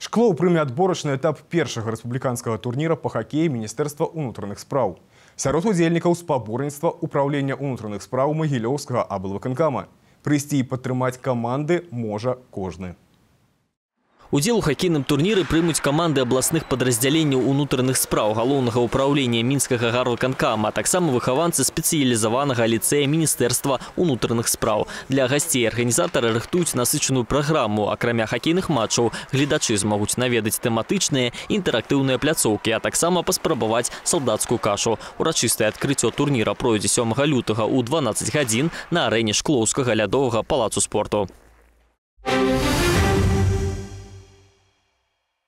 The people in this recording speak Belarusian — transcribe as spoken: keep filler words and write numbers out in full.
Шклоў прыме адборачны этап першага рэспубліканскага турніра па хакеі Міністэрства ўнутраных спраў. Сярод удзельнікаў спаборніцтва ўпраўлення ўнутраных спраў Магілёўскага аблвыканкама. Прыйсці і падтрымаць каманды можа кожны. Удзел у хакейным турніры прымуць каманды абласных падраздзяленняў унутраных спраў галоўнага ўпраўлення мінскага гарвыканкама, а таксама выхаванцы спецыялізаванага ліцэя Міністэрства ўнутраных спраў. Для гасцей арганізатары рыхтуюць насычаную праграму. Акрамя хакейных матчаў, гледачы змогуць наведаць тэматычныя інтэрактыўныя пляцоўкі, а таксама паспрабаваць салдацкую кашу. Урачыстае адкрыццё турніра пройдзе сёмага лютага ў дванаццаць гадзін на арэне Шклоўскага лядовага палацу спорту.